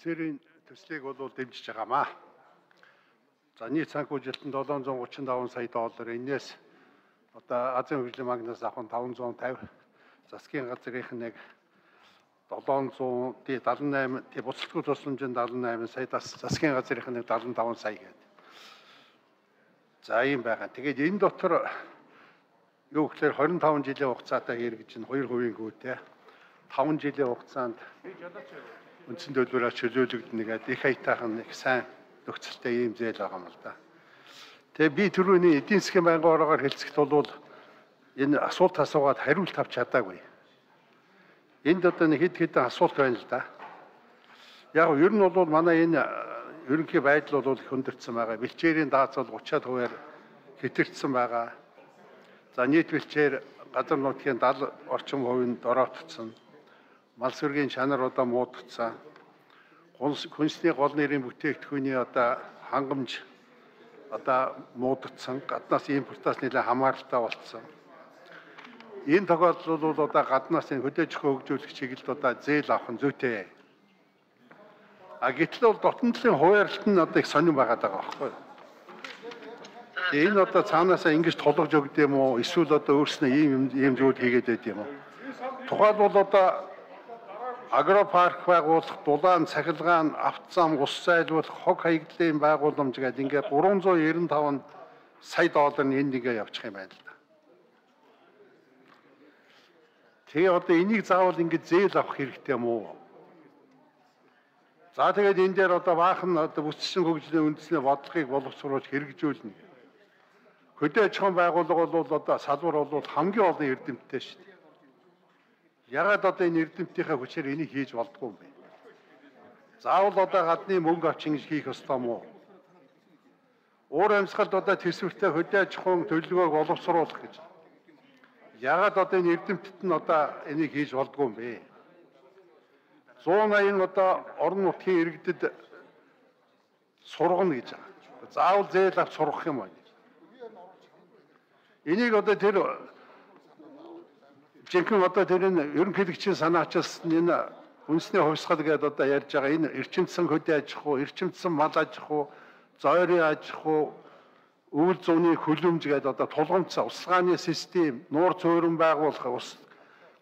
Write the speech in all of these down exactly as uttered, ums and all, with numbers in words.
Офицерийн төслийг бол дэмжиж байгаамаа. За нийт санхүү жилтэн долоон зуун гучин таван сая доллар, энээс одоо Азийн хөгжлийн банкнаас авах нь таван зуун тавь, засгийн газрынх нь нэг долоон зуун даалан найман, тий буцалтгүй тусламжийн даалан найман сая, засгийн газрынх нь нэг даалан таван сая гэдэг. За ийм байгаа. Тэгээд энэ дотор юу гэхээр хорин таван жилийн хугацаатай хэрэгжин хоёр хувийн гүйтэй таван жилийн хугацаанд үндсэн төлбөрөөр чөлөөлөгдөнө гэдэг их хаятайхан их сайн нөхцөлтэй ийм зээл байгаа юм л да. Тэгээ би түрүүний эдийн засгийн байнгын ороогаар хэлцэхэд бол энэ асуулт асуугаад хариулт авч чадаагүй. Энд одоо нэг хэд хэдэн асуулт байна л да. Яг нь ер нь бол манай энэ ерөнхий байдал бол их өндөрцөн байгаа. Бэлчээрийн даацал гутраад хувиар хэтэрсэн байгаа. За нийт бэлчээр газар нутгийн даал орчим хувинд дороотцсон. Мал сүргийн чанар одоо муудагдсан. Хүнсний гол нэрийн бүтээгдэхүүний одоо хангамж одоо муудагдсан. Гаднаас импортоос нэлээд хамааралтай болцсон. Энэ тохиолдол бол одоо гаднаас энэ хөдөөж хөгжүүлэх чиглэлд одоо зээл авах нь зүйтэй. А гэтэл бол дотн талын хуваарлт нь одоо их сонирн байгаад байгаа байхгүй юу? Энэ одоо цаанаасаа ингэж тулгаж өгд юм уу? Эсвэл одоо өөрснөө ийм ийм зүйл хийгээд байд юм уу? Тухайлбал одоо агропарк байгуулах, дулаан, цахилгаан, авто зам, ус зайлуулах, хог хаягдлын байгууламж гэдэг ингээд гурван зуун найман таван сая доллар нь энд ингээ явчих юм байна л да. Тэгээ одоо энийг заавал ингэ зээл авах хэрэгтэй юм уу? За тэгээд энэ дээр одоо баахан одоо бүсчин хөгжлийн үндэсний бодлогыг боловсруулж хэрэгжүүлнэ. Хөдөө аж ахуйн байгууллага бол одоо салбар бол хамгийн олон эрдэмтдтэй шүү дээ. Ягаад одоо энэ эрдэмтдийнхээ хүчээр энийг хийж болдгоо юм бэ? Заавал одоо гадны мөнгө авч ингэж хийх ёстой юм уу? Уур амьсгалд одоо төсвөртэй хөдөө аж ахуйн төлөвлөгөөг боловсруулах гэж. Ягаад одоо энэ эрдэмтдд нь одоо энийг хийж болдгоо юм бэ? зуун аян одоо орон нутгийн иргэдэд сургана гэж байгаа. Заавал зээл авч сургах юм байна. Энийг одоо тэр жинхэнэ одоо тэр энэ ерөнхийлөгчийн санаачаас энэ үндэсний хувьсгал гэдэг одоо ярьж байгаа энэ эрчимцэн хөдөө аж ахуй, эрчимцэн мал аж ахуй, зойрын аж ахуй, өвөл зууны хөлөмж гэдэг одоо тулгамдсан усгааны систем, нуур цөөрөн байгуулах ус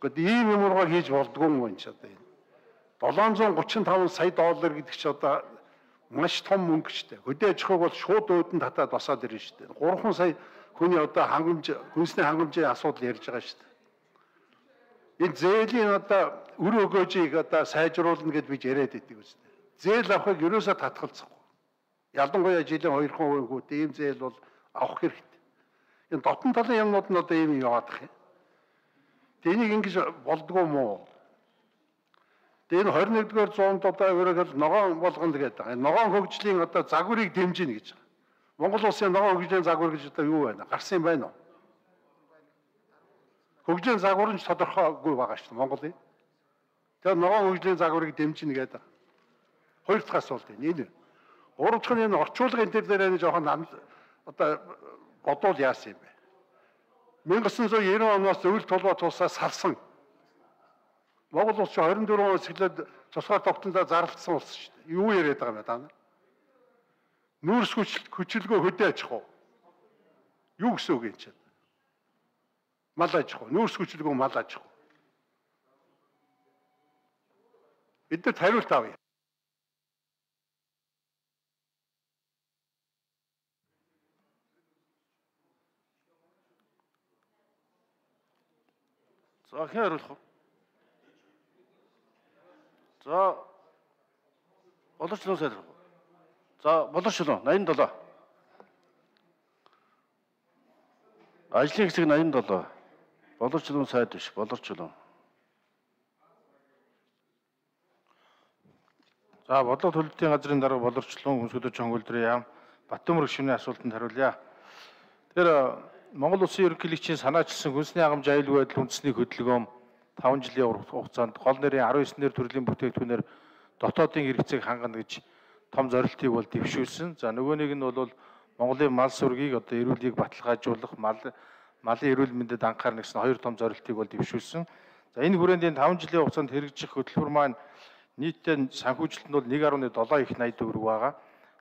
гэдэг ийм юмроо хийж болдгоо юм байна ч одоо энэ. долоон зуун гучин таван сая доллар гэдэг чи одоо маш том мөнгө ч дээ. Хөдөө аж ахуйг бол шууд өөдөнд татаад босоод ирнэ шүү дээ. гурван сая хүний одоо хангамж, хүнсний хангамжийн асуудал ярьж байгаа шүү дээ. Энэ зээлийн одоо үр өгөөжийг одоо сайжруулна гэд бид яриад байдаг үстэй. Зээл авахыг ерөөсөө татгалзахгүй. Ялангуяа жилийн хоёр хувийн хүүтэй ийм зээл бол авах хэрэгтэй. Энэ дотн талын юмнууд нь одоо ийм яваадах юм. Тэ энийг ингэж болдгоо юм уу? Тэгээ энэ хорин нэгдүгээр зуунд одоо ерөөхдөө ногоон болгоно гэдэг байгаа. Ногоон хөгжлийн одоо загварыг дэмжинэ гэж байгаа. Монгол улсын ногоон хөгжлийн загвар гэж одоо юу байна? Гарсан юм байна уу? Хөгжлийн загвар нь тодорхойгүй байгаа шүү дээ Монголын. Тэгэхээр ногоон хөгжлийн загварыг дэмжинэ гэдэг. Хоёр дахь асуулт энэ. Гурав дахь нь энэ орчуулгын төр дээр энэ жоохон одоо бодвол яасан юм бэ? мянга тоғыз жүз девяносто оноос өвөл толгой тулсаа салсан. Монгол улс хорин дөрвөн оноос эхлээд цусгаар тогтнолоо зарлагдсан улс шүү дээ. Юу яриад байгаа юм бэ та? Нүүрс хүчилгөө хөдөө аж ахуй. Юу гэсэн үг юм чинь? Мал аж ахуй, нүүрс хүчилгөө мал аж ахуй. Эдгээр хариулт авъя. За хэн хариулах вэ? За боловчлон сайд. За боловчлон найман долоо. Ажлын хэсэг найман долоо. Боловчлон сайд биш, боловчлон. За бодлого төлөвлөлтийн газрын дарга боловчлон хүнс хөдөө чонгөлдрийн яам Баттөмөр гишүүний асуултанд хариулъя. Тэгэхээр Монгол улсын ерөнхийлөгчийн санаачилсан хүнсний хангамж аюулгүй байдал үндэсний хөдөлгөөн таван жилийн хугацаанд гол нэрийн арван девять нэр төрлийн бүтээгдэхүүнээр дотоодын хэрэгцээг хангана гэж том зорилтыг бол дэвшүүлсэн. За нөгөө нэг нь бол Монголын мал сүргийг одоо эрүүлгийг баталгаажуулах, мал малын эрүүл мэндэд анхаарна гэсэн хоёр том зорилтыг бол дэвшүүлсэн. За энэ хүрээнд энэ таван жилийн хугацаанд хэрэгжих хөтөлбөр маань нийтдээ санхүүжилт нь бол нэг гаруй долоо их найд төгрөг байгаа.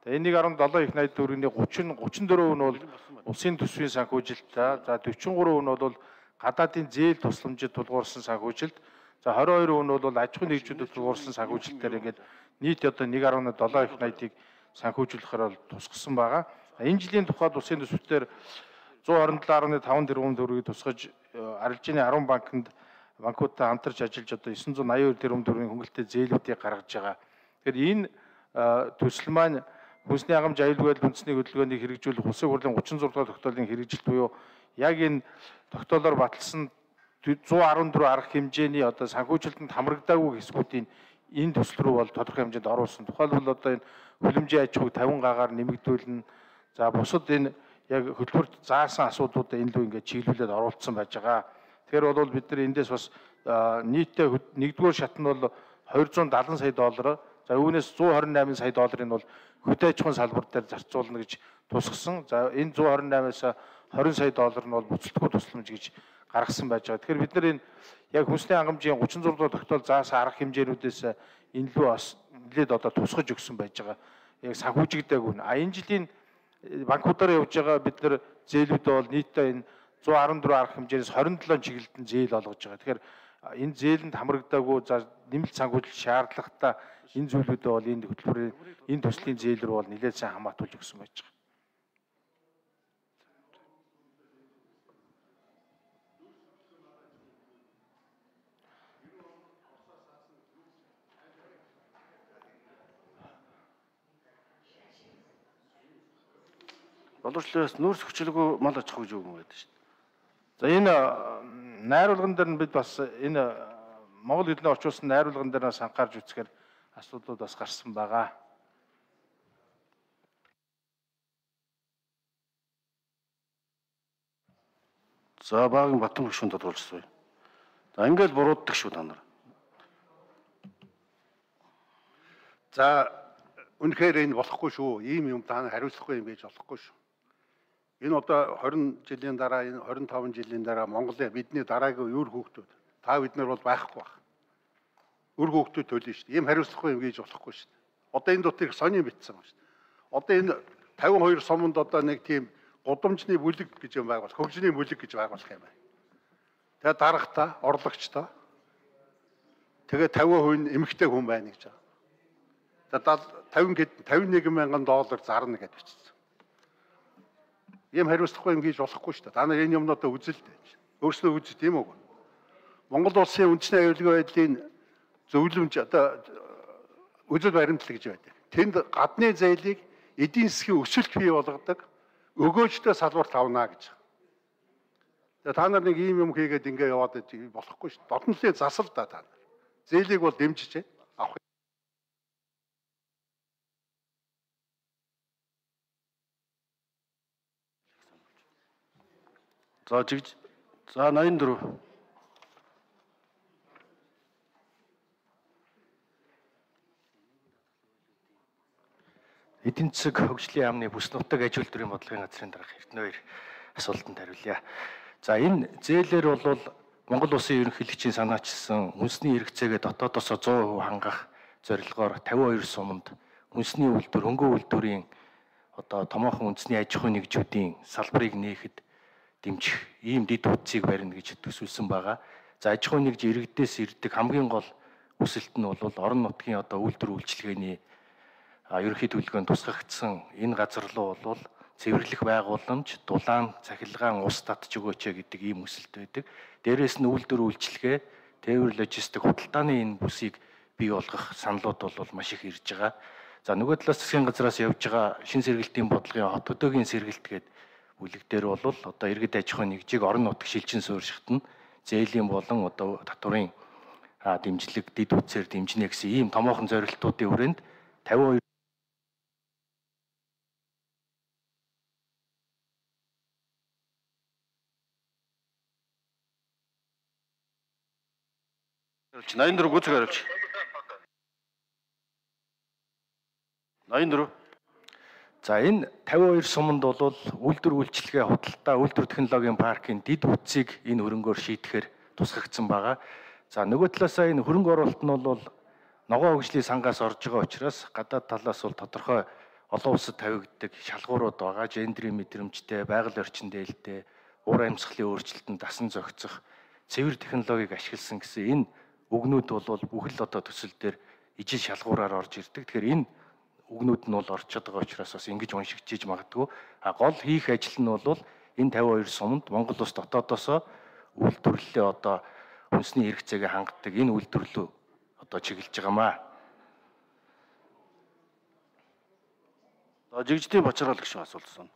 Тэгээ энэ нэг гаруй долоо их найд төгрөгийн гучин гучин дөрөв нь бол улсын төсвийн санхүүжилт, за дөрвөн гурав нь бол гадаадын зээл тусламжид тулгуурсан санхүүжилт, за хорин хоёр нь бол аж ахуйн нэгжүүдэд тулгуурсан санхүүжилтээр ингээд нийт одоо нэг гаруй долоо их найдыг санхүүжүүлэхээр бол тусгасан байгаа. Энэ жилийн тухайд улсын төсвөөр зуун хорин долоо гаруй таван тэрбум төгрөгийг тусгаж арилжааны арван банкнд банкудтай хамтарч ажиллаж одоо есөн зуун аян хоёр тэрбум төгрөгийн хөнгөлөлтэй зээлүүдийг гаргаж байгаа. Тэгэхээр энэ төсөл маань хүнсний хангамж аюулгүй байдал үндэсний хөдөлгөөнийг хэрэгжүүлэх улсын хурлын гучин зураг дахь тогтоолын хэрэгжилт буюу яг энэ тогтоолоор баталсан зуун арван дөрөв арга хэмжээний одоо санхүүжилтэнд хамрагдаагүй хэсгүүдийн энэ төсөл рүү бол тодорхой хэмжээнд оруулсан. Тухайлбал одоо энэ хөлөмжийн аж ахуйг тавин гагаар нэмэгдүүлнэ. За бусад энэ яг хөтөлбөрт заасан асуудлуудаа энэ лөө ингээд чиглүүлээд оруулсан байж байгаа. Тэгэхээр бол бид нар эндээс бас нийтдээ нэгдүгээр шат нь бол хоёр зуун даатан сая доллар, за үүнээс зуун хорин найман сая долларыг бол хөдөө аж ахуйн салбар дээр зарцуулна гэж тусгасан. За энэ зуун хорин наймаас хорин сая доллар нь бол буцалтгүй тусламж гэж гаргасан байж байгаа. Тэгэхээр бид нар энэ яг хүнсний хангамжийн гучин зураг дахь тогтоол заасан арга хэмжээнүүдээс энэ лөө бас нэлээд одоо тусгаж өгсөн байж байгаа. Яг санхүүжигдээгүй. А энэ жилийн банкудаар явж байгаа бид нар зээлүүд бол нийтдээ энэ зуун арван дөрөв арга хэмжээс хорин долоо чиглэлд зээл олгож байгаа. Тэгэхээр энэ зээлэнд хамрагдаагүй за нэмэлт санхүүжилт шаардлагатай энэ зүйлүүдээ бол энэ хөтөлбөрийн энэ төслийн зээл рүү бол нэлээд сайн хамаатуулж өгсөн байж байгаа. Боловсруулалтаас нүүрс хүчлэггүй мал аж ахуй гэж үг юм байдаг шүү дээ. За энэ найруулган дээр нь бид бас энэ Монгол хэлний орчуулсан найруулган дээр нас анхаарч үзэхээр асуудлууд бас гарсан байгаа. За багийн Батан гүшүүн тодруулсан. За ингээд бурууддаг шүү та нар. За үнэхээр энэ болохгүй шүү. Ийм юм та хариуцлахгүй юм гэж болохгүй шүү. Энэ одоо хорин жилийн дараа, энэ хорин таван жилийн дараа Монголын бидний дараагийн үр хүүхдүүд та бид нар бол байхгүй байх. Үр хүүхдүүд төлнө шүү дээ. Ийм хариуцлахгүй юм гэж болохгүй шүү дээ. Одоо энэ дотор их сони битсэн байна шүү дээ. Одоо энэ тавин хоёр суманд одоо нэг тийм гудамжны бүлэг гэж юм байгуул, хөгжлийн бүлэг гэж байгуулах юм байна. Тэгээ дарагтаа, орлогчтой. Тэгээ тавин хувь эмэгтэй хүн байна гэж байгаа. тавин тавин нэг мянган доллар зарна гэж бичсэн. Ийм хариуцлахгүй юм гэж болохгүй шүү дээ. Та нар энэ юмнуудаа үзэлтэй. Өөрснөө үз тийм үү? Монгол улсын үндэсний аюулгүй байдлын зөвлөмж одоо үзэл баримтлал гэж байдаг. Тэнд гадны зээлийг эдийн засгийн өсөлт бий болгодог өгөөжтэй салбарт авна гэж. Тэгээ та нар нэг ийм юм хийгээд ингээ яваад болохгүй шүү дээ. Дотнолын засал да та нар. Зээлийг бол дэмжиж авах. За жигж за ноён дөрөв. Эдийн засаг хөгжлийн яамны бүс нутаг аж үйлдвэрийн бодлогын газрын дарга Эрдэнэ хоёр асуултанд хариулъя. За энэ зээлээр бол Монгол улсын ерөнхийлөгчийн санаачилсан үндэсний хэрэгцээгээ дотоодосоо зуун хувь хангах зорилгоор тавин хоёр суманд үндэсний үйлдвэр, хөнгөн үйлдвэрийн одоо томоохон үндэсний аж ахуйн нэгжүүдийн салбарыг нээхэд дэмжих ийм дэд утсыг барина гэж төсвөлсөн байгаа. За аж ахуйн нэгж иргэдээс ирдэг хамгийн гол хүсэлт нь бол орон нутгийн одоо үйлдвэр үйлчилгээний ерөнхий төлөвлөгөөнд тусгагдсан энэ газар руу бол цэвэрлэх байгууламж, дулаан, цахилгаан ус татж өгөөч гэдэг ийм хүсэлт байдаг. Дээрээс нь үйлдвэр үйлчилгээ, тээвэр логистик худалдааны энэ бүсийг бий болгох саналуд бол маш их ирж байгаа. За нөгөө талаас засгийн газраас явж байгаа шин сэргэлтийн бодлогын хот хөдөөгийн сэргэлт гэдэг бүлэг дээр бол одоо иргэд аж ахуйн нэгжийг орон нутаг шилжин суурьшихад нь зээлийн болон одоо татварын дэмжлэг дэд үтсээр дэмжинэ гэсэн ийм томоохон зорилтуудын хүрээнд тавин хоёр ноён дөрөв гүцэг хариулж. ноён дөрөв. За энэ тавин хоёр суманд бол үйлдвэр үйлчилгээ худалдаа үйлдвэр технологийн паркийн дэд үтсийг энэ хөрөнгөөр шийдэхээр тусгагдсан байгаа. За нөгөө талаасаа энэ хөрөнгө оруулалт нь бол ногоон хөгжлийн сангаас орж байгаа учраас гадаад талаас бол тодорхой олон улсад тавигддаг шалгуурууд байгаа. Гендрийн мэдрэмжтэй, байгаль орчин дээлтэй, уур амьсгалын өөрчлөлтөнд дасан зохицох цэвэр технологиг ашигласан гэсэн энэ үгнүүд бол бүх л одоо төсөл дээр ижил шалгуураар орж ирдэг. Тэгэхээр энэ үгнүүд нь бол орчод байгаа учраас бас ингэж уншигчиж магадгүй. А гол хийх ажил нь бол энэ тавин хоёр суманд Монгол улс дотоодосоо үйлдвэрлэлээ одоо үндэсний хэрэгцээгээ хангадаг энэ үйлдвэрлэлөө одоо чиглэж байгаамаа. За жигждийн бачаргал гişүн асуулт байна.